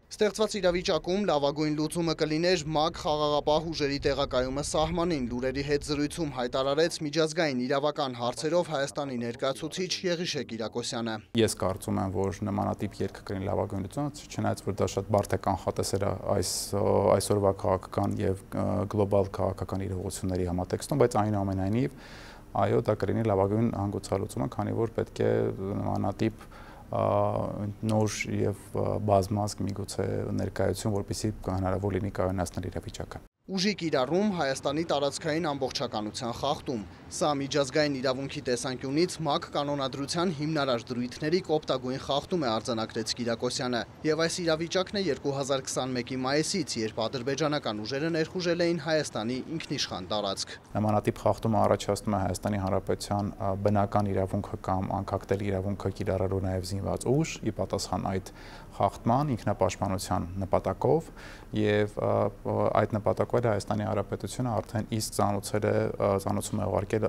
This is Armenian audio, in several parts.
Ստեղծված իրավիճակում լավագույն լուծումը կլիներ ՄԱԿ խաղաղապահ ուժերի տեղակայումը սահմանին, լուրերի հետ զրույցում հայտարարեց միջազգային իրավական հարցերով Հայաստանի ներկայացուցիչ Եղիշե Կիրակոսյանը։ Ես կարծում եմ, որ նմանատիպ երգը կլինի լավագույն լուծումը, չնայած որ դա շատ բարդ է կանխատեսել այսօրվա քաղաքական եւ գլոբալ քաղաքական իրողությունների համատեքստում, բայց այնուամենայնիվ այո, դա կլինի լավագույն հանգուցալուծումը, քանի որ պետք է նմանատիպ նոր եւ բազմազգ միգուցե ներկայություն, որպեսզի հնարավոր լինի կայունացնել իրավիճակը։ Ուժի կիրառում Հայաստանի տարածքային ամբողջականության խախտում։ Սա միջազգային իրավունքի տեսանկյունից ՄԱԿ կանոնադրության հիմնարար դրույթների կոպտագույն խախտում է, արձանագրեց Կիրակոսյանը։ Եվ այս իրավիճակն է 2021-ի մայիսից, երբ ադրբեջանական ուժերը ներխուժել էին Հայաստանի ինքնիշխան տարածք։ Նմանատիպ խախտումը առաջացնում է Հայաստանի Հանրապետության բնական իրավունքը կամ անկախտել իրավունքը կիրառելու նաև զինված ուժ, ի պատասխան այդ խախտման ինքնապաշտպանության նպատակով եւ այդ նպատակով Հայաստանի Հանրապետությունը արդեն իսկ ծանուցում է ուղարկել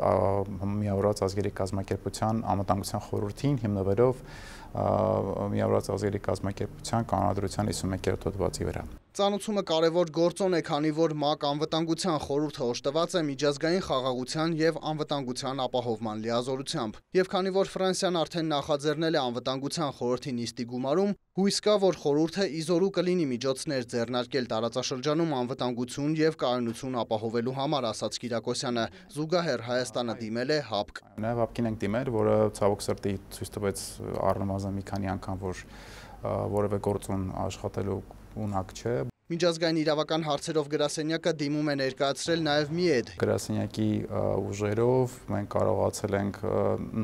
Միավորված ազգերի կազմակերպության անվտանգության խորհրդին հիմնվելով Միավորված ազգերի կազմակերպության կանոնադրության 51-րդ հոդվածի վրա։ Ծանուցումը կարևոր գործոն է, քանի որ ՄԱԿ անվտանգության խորհուրդը օժտված է միջազգային խաղաղության եւ անվտանգության ապահովման լիազորությամբ։ Եվ քանի որ Ֆրանսիան արդեն նախաձեռնել է անվտանգության խորհրդի նիստի գումարում, հույս կա, որ խորհուրդը իզորու կլինի միջոցներ ձեռնարկել տարածաշրջանում անվտանգություն եւ կայունություն ապահովելու համար, ասաց Կիրակոսյանը։ Զուգահեռ Հայաստանը դիմել է ՀԱՊԿ։ Նաեւ ՀԱՊԿ-ին ենք դիմել, որը ցավոք սրտի ցույց տվեց առնվազն մի քանի անգամ, որ որևէ գործուն աշխատելու ունակ չէ։ Միջազգային իրավական հարցերով գրասենյակը դիմում է ներկայացրել նաև ՄԻԵԴ։ Գրասենյակի ուժերով մենք կարողացել ենք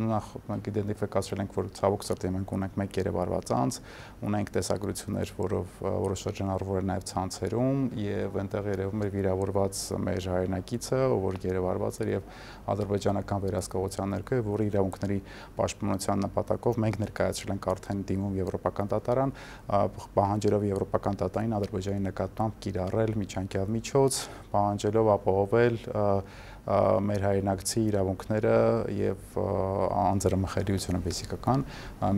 նախ մենք իդենտիֆիկացրել ենք, որ ցավոք սրտի մենք ունենք մեկ երևարված անձ, ունենք տեսագրություններ, որը շրջանառվում էր նաև ցանցերում եւ այնտեղ երևում էր վիրավորված մեր հայրենակիցը, որ երևարված էր եւ ադրբեջանական վերահսկողության ներքո, որի իրավունքների պաշտպանության նպատակով մենք ներկայացրել ենք արդեն դիմում Եվրոպական դատարան, պահանջելով Եվրոպական դատարանին Ադրբեջանի նկատմամբ կիրառել միջանկյալ միջոց, պահանջելով ապահովել մեր հայրենակցի իրավունքները եւ անձրմխելիությունը բեսիկական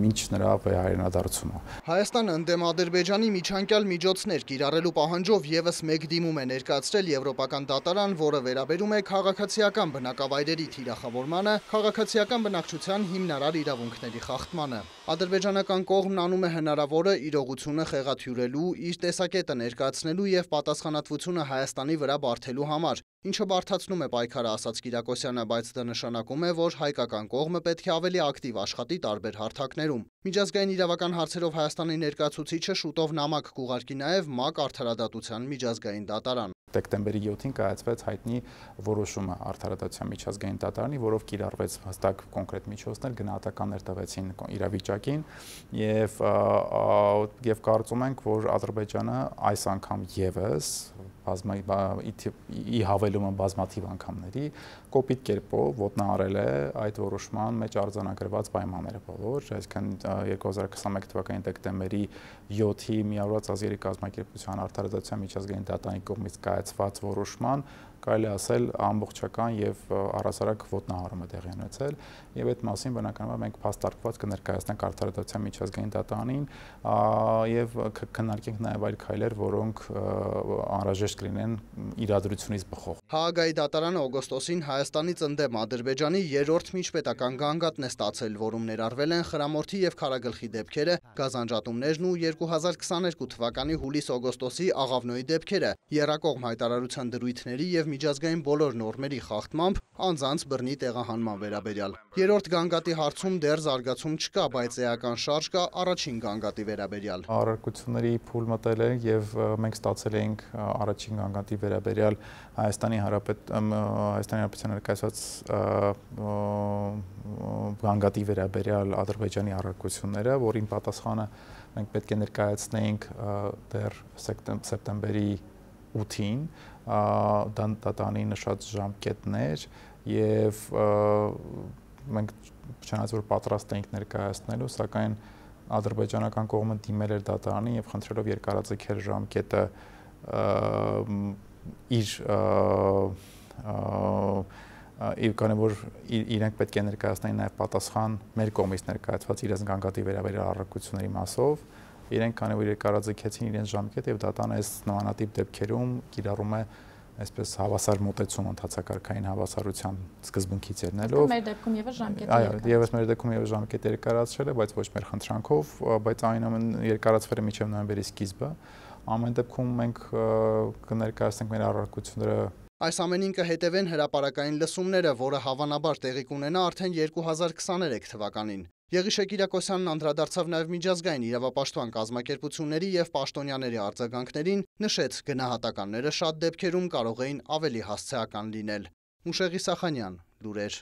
մինչ նրա հայրենադարձումը։ Հայաստանը ընդդեմ Ադրբեջանի միջանկյալ միջոցներ կիրառելու պահանջով եւս մեկ դիմում է ներկայացրել Եվրոպական դատարան, որը վերաբերում է քաղաքացիական բնակավայրերի թիրախավորմանը, քաղաքացիական բնակչության հիմնարար իրավունքների խախտմանը։ Ադրբեջանական կողմն անում է հնարավորը իրողությունը խեղաթյուրելու, իր տեսակետը ներկայացնելու եւ պատասխանատվությունը Հայաստանի վրա բարթելու համար, ինչը բարդացնում է պայքարը, ասաց Կիրակոսյանը, բայց դա նշանակում է, որ հայկական կողմը պետք է ավելի ակտիվ աշխատի տարբեր հարթակներում։ Միջազգային իրավական հարցերով Հայաստանի ներկայացուցիչը շուտով նամակ կուղարկի նաև ՄԱԿ արդարադատության միջազգային դատարան։ Դեկտեմբերի 7-ին կայացվեց հայտնի որոշումը արդարադատության միջազգային դատարանի, որով կիրառվեց հստակ կոնկրետ միջոցներ, գնահատականներ տվեցին իրավիճակին եւ կարծում ենք, որ Ադրբեջանը այս անգամ եւս ի հավելումը բազմաթիվ անգամների կոպիտ կերպով ոտնահարել է այդ որոշման մեջ արձանագրված պայմանները բոլոր, այսինքն 2021 թվականի դեկտեմբերի 7-ի Միավորված ազգերի կազմակերպության արդարադատության միջազգային դատարանի կողմից կայացված որոշման կարելի ասել ամբողջական եւ առհասարակ ոտնահարում է տեղի ունեցել եւ այդ մասին բնականաբար մենք փաստարկված կներկայացնենք արդարադատության միջազգային դատարանին եւ քննարկենք նաեւ այլ քայլեր, որոնք անհրաժեշտ կլինեն իրադրությունից բխող։ Հաագայի դատարանը օգոստոսին Հայաստանից ընդդեմ Ադրբեջանի երրորդ միջպետական գանգատն է ստացել, որում ներառվել են խրամորդի եւ քարագլխի դեպքերը, գազանջատումներն ու 2022 թվականի հուլիս-օգոստոսի Աղավնոյի դեպքերը, եռակողմ հայտարարության դրույթների եւ միջազգային բոլոր նորմերի խախտմամբ անձանց բռնի տեղահանման վերաբերյալ։ Երրորդ գանգատի հարցում դեռ զարգացում չկա, բայց էական շարժ կա առաջին գանգատի վերաբերյալ։ Առարկությունների փուլ մտել է եւ մենք ստացել ենք առաջին գանգատի վերաբերյալ Հայաստանի Հանրապետության ներկայացված գանգատի վերաբերյալ Ադրբեջանի առարկությունները, որին պատասխանը մենք պետք է ներկայացնեինք դեռ սեպտեմբերի 8-ին դատարանի նշած ժամկետներ եւ մենք չնայած որ պատրաստ էինք ներկայացնելու, սակայն ադրբեջանական կողմը դիմել էր դատարանին եւ խնդրելով երկարաձգել ժամկետը քանի որ իրենք պետք է ներկայացնեին նաեւ պատասխան մեր կողմից ներկայացված իրենց գանգատի վերաբերյալ առարկությունների մասով, իրենք քանի որ երկարաձգեցին իրենց ժամկետը եւ դատան այս նմանատիպ դեպքերում կիրառում է այսպես հավասար մոտեցում ընդհանցակարգային հավասարության սկզբունքից ելնելով։ Մեր դեպքում եւս ժամկետը այո, եւս մեր դեպքում եւս ժամկետը երկարացրել է, բայց ոչ մեր խնդրանքով, բայց այնուամենայնիվ երկարացվել է մինչև նոյեմբերի սկիզբը։ Ամեն դեպքում մենք կներկայացնենք մեր առարկությունները։ Այս ամենին կհետևեն հրապարակային լսումները, որը հավանաբար տեղի կունենա արդեն 2023 թվականին։ Եղիշե Կիրակոսյանն անդրադարձավ նաև միջազգային իրավապաշտպան կազմակերպությունների եւ պաշտոնյաների արձագանքներին, նշեց գնահատականները շատ դեպքերում կարող էին ավելի հասցեական լինել։ Մուշեղ Իսախանյան, լուրեր։